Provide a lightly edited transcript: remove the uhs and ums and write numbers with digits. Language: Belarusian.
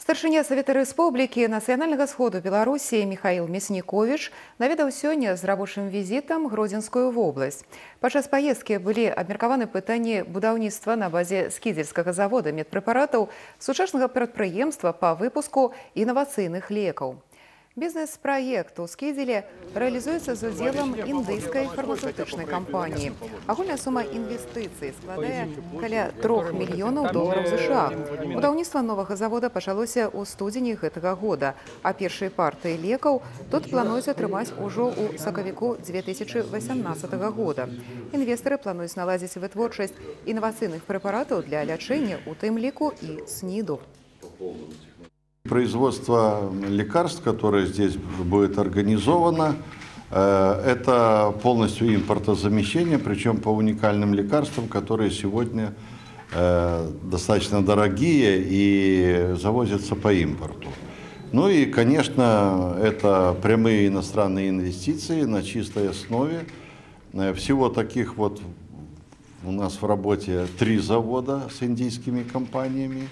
Старшыня Савета Рэспублікі нацыянальнага сходу Беларусі Михаил Мяснікович наведаў сёння з рабочым візітам Гродзенскую вобласць. Падчас паездкі былі абмеркаваны пытанні будаўніцтва на базе скідзельскага завода медпрэпаратаў сучаснага прадпрыемства па выпуску інавацыйных лекаў. Бізнес-праект у Скідзелі рэалізуецца з удзелам індыйскай фармацэўтычнай кампаніі. Агульная сума інвестыцый складае каля $3 мільёнаў США. Будаўніцтва новага завода пачалося ў студзені гэтага года, а першыя партыі лекаў тут плануюць атрымаць ужо ў сакавіку 2018 года. Інвестары плануюць наладзіць вытворчасць інавацыйных прэпаратаў для лячэння, у тым ліку і СНИДу. Производство лекарств, которое здесь будет организовано, это полностью импортозамещение, причем по уникальным лекарствам, которые сегодня достаточно дорогие и завозятся по импорту. Ну и, конечно, это прямые иностранные инвестиции на чистой основе. Всего таких вот у нас в работе 3 завода с индийскими компаниями.